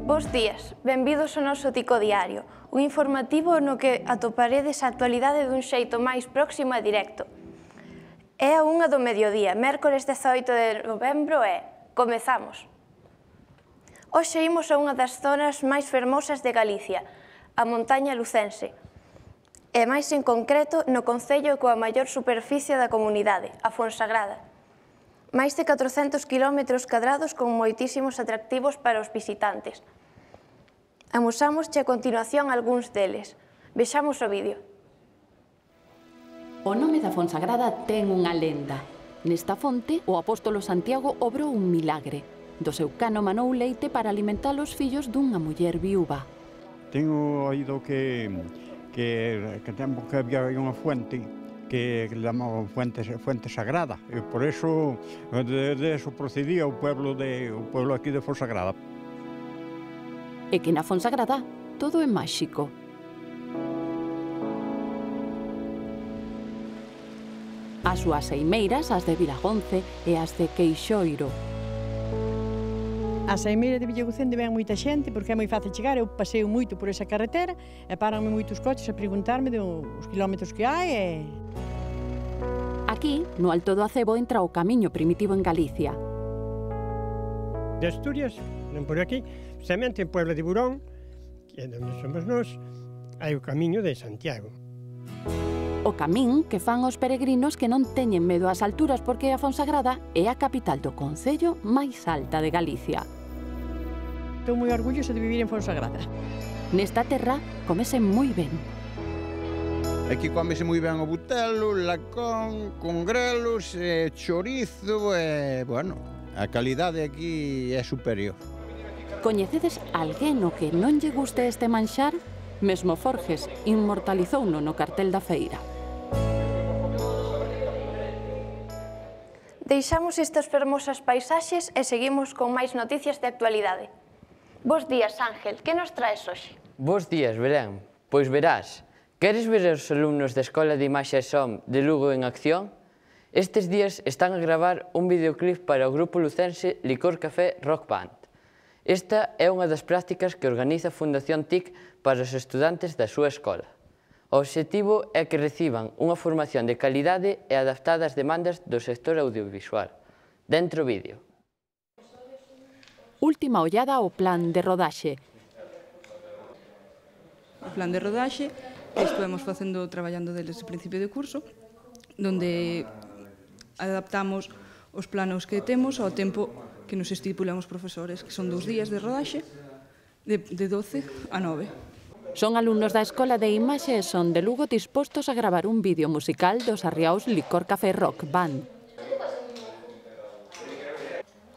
Bos días, benvidos ao noso Tico Diario, un informativo no que atoparedes a actualidade dun xeito máis próximo e directo. É a 1 do mediodía, mércores 18 de novembro e comezamos. Hoxe imos a unha das zonas máis fermosas de Galicia, a montaña lucense, e máis en concreto no concello coa maior superficie da comunidade, a Fonsagrada. Máis de 400 km cadrados con moitísimos atractivos para os visitantes. Amosámosche a continuación algúns deles. Vexamos o vídeo. O nome da Fonsagrada ten unha lenda. Nesta fonte, o apóstolo Santiago obrou un milagre. Do seu cano manou leite para alimentar os fillos dunha muller viúva. Tengo oído que tempo que había unha fuente que llamaba fuente sagrada, e por eso de eso procedía o pueblo aquí de Fonsagrada. E que na Fonsagrada todo é máxico. As súas eimeiras, as de Vilagonce e as de Queixoiro. A saimeira de Villagucende ven moita xente porque é moi fácil chegar, eu paseo moito por esa carretera e paranme moitos coches a preguntarme dos kilómetros que hai e... Aquí, no Alto do Acebo, entra o camiño primitivo en Galicia. De Asturias, non por aquí, precisamente en Puebla de Burón, que é onde somos nós, hai o camiño de Santiago. O camín que fan os peregrinos que non teñen medo ás alturas porque a Fonsagrada é a capital do concello máis alta de Galicia. Estou moi orgulloso de vivir en Fonsagrada. Nesta terra comese moi ben. Aquí comese moi ben o butelo, lacón, con grelos, chorizo e, bueno, a calidade aquí é superior. Coñecedes alguén o que non lle guste este manxar? Mesmo Forges inmortalizouno no cartel da feira. Deixamos estas fermosas paisaxes e seguimos con máis noticias de actualidade. Bos días, Ángel, que nos traes hoxe? Bos días, Belén. Pois verás, queres ver os alumnos da Escola de Imaxe e Som de Lugo en acción? Estes días están a gravar un videoclip para o grupo lucense Licor Café Rock Band. Esta é unha das prácticas que organiza a Fundación TIC para os estudantes da súa escola. O obxectivo é que reciban unha formación de calidade e adaptada ás demandas do sector audiovisual. Dentro vídeo. Última ollada ao plan de rodaxe. O plan de rodaxe que estuvemos traballando desde o principio de curso, donde adaptamos os planos que temos ao tempo que nos estipulan os profesores, que son 2 días de rodaxe, de 12 a 9. Son alumnos da Escola de Imaxe e Son de Lugo dispostos a gravar un vídeo musical dos Arriaos Licor Café Rock Band.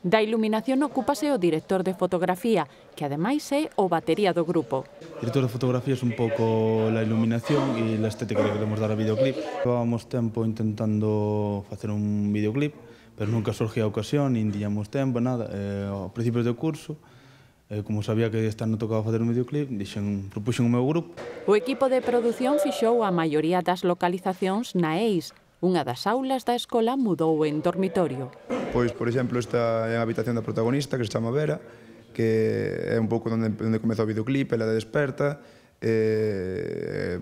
Da iluminación ocúpase o director de fotografía, que ademais é o batería do grupo. O director de fotografía é un pouco a iluminación e a estética que queremos dar ao videoclip. Levábamos tempo intentando facer un videoclip, pero nunca surgía a ocasión, nin tiñamos tempo, nada. Ao principio do curso, como sabía que este ano tocaba facer un videoclip, propuxen o meu grupo. O equipo de produción fixou a maioría das localizacións na EIS. Unha das aulas da escola mudou en dormitorio. Pois, por exemplo, esta é a habitación da protagonista, que se chama Vera, que é un pouco onde comeza o videoclip, ela desperta,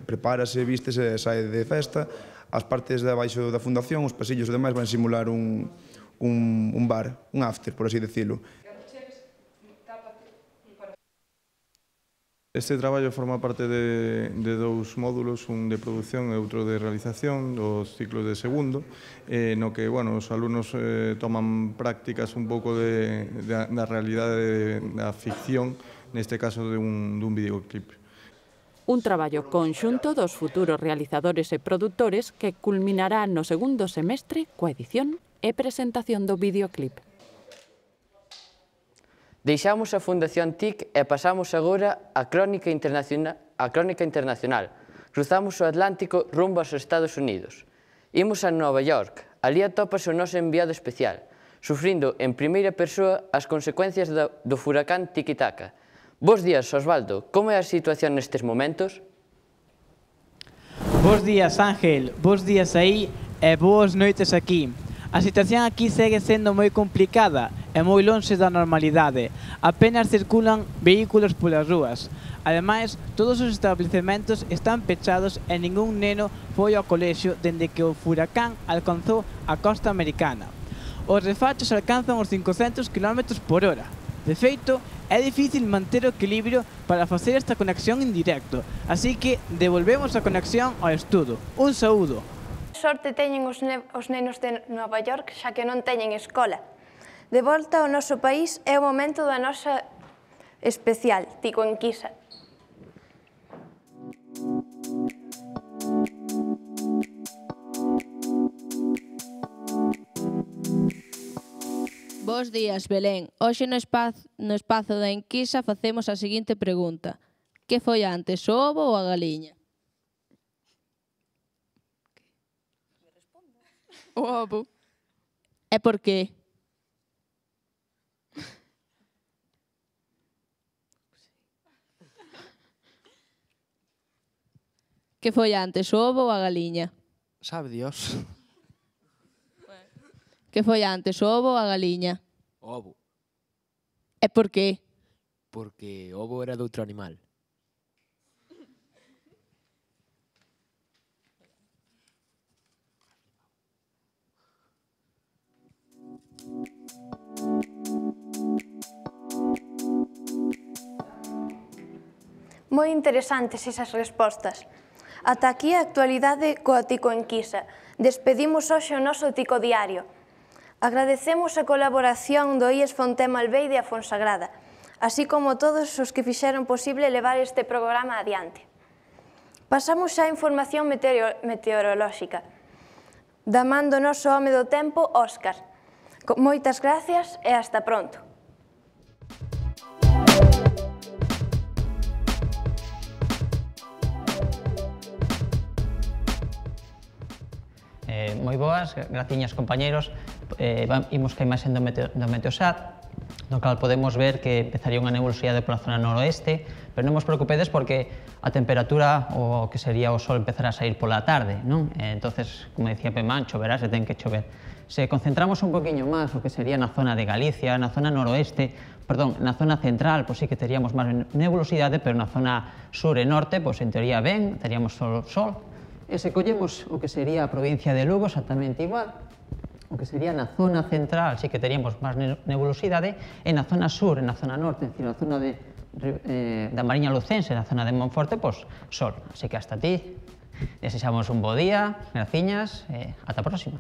prepárase, vístese, sae de festa. As partes de abaixo da fundación, os pasillos e demais, van simular un bar, un after, por así decirlo. Este traballo forma parte de 2 módulos, un de produción e outro de realización, dos ciclos de segundo, no que, bueno, os alumnos toman prácticas un pouco da realidade da ficción, neste caso de un videoclip. Un traballo conxunto dos futuros realizadores e produtores que culminará no segundo semestre coa edición e presentación do videoclip. Deixamos a Fundación TIC e pasamos agora á Crónica Internacional. Cruzamos o Atlántico rumbo aos Estados Unidos. Imos a Nova York. Ali atópase o noso enviado especial, sufrindo en primeira persoa as consecuencias do furacán Tiki-Taka. Bos días, Osvaldo. Como é a situación nestes momentos? Bos días, Ángel. Bos días aí e boas noites aquí. A situación aquí segue sendo moi complicada e moi lonxe da normalidade. Apenas circulan vehículos polas rúas. Ademais, todos os establecementos están pechados e ningún neno foi ao colexio dende que o furacán alcanzou a costa americana. Os refachos alcanzan os 500 km/h. De feito, é difícil manter o equilibrio para facer esta conexión en directo, así que devolvemos a conexión ao estudo. Un saúdo. Sorte teñen os nenos de Nova York, xa que non teñen escola. De volta ao noso país é o momento da nosa especial, Tico Enquisa. Bos días, Belén. Hoxe no espazo da Enquisa facemos a seguinte pregunta. Que foi antes, o ovo ou a galiña? O ovo. E por qué? Que foi antes, o ovo ou a galiña? Sabe Dios. Que foi antes, o ovo ou a galiña? O ovo. E por qué? Porque o ovo era de outro animal. Moi interesantes esas respostas. Ata aquí a actualidade coa Tico Enquisa. Despedimos hoxe o noso Tico Diario. Agradecemos a colaboración do IES Fontema Albeide e a Fonsagrada, así como todos os que fixeron posible levar este programa adiante. Pasamos xa a información meteorolóxica. Da man do noso home do tempo, Óscar. Moitas gracias e hasta pronto. Moi boas, graciñas compañeros. Imos que a imaxen do Meteosat, no cal podemos ver que empezaría unha nebulosidade pola zona noroeste, pero non vos preocupedes porque a temperatura, o que sería o sol, empezará a sair pola tarde, non? Entonces, como dicía Pemán, choverá se ten que chover. Se concentramos un poquinho máis o que sería na zona de Galicia, na zona noroeste, perdón, na zona central, pois sí que teríamos máis nebulosidade, pero na zona sur e norte, pois en teoría ben, teríamos sol. E se collemos o que sería a provincia de Lugo, exactamente igual, o que sería na zona central, sí que teríamos máis nebulosidade, e na zona sur, e na zona norte, é dicir, na zona da Mariña Lucense, na zona de Monforte, pois sol. Así que hasta ti, desexamos un bo día, graciñas, e ata a próxima.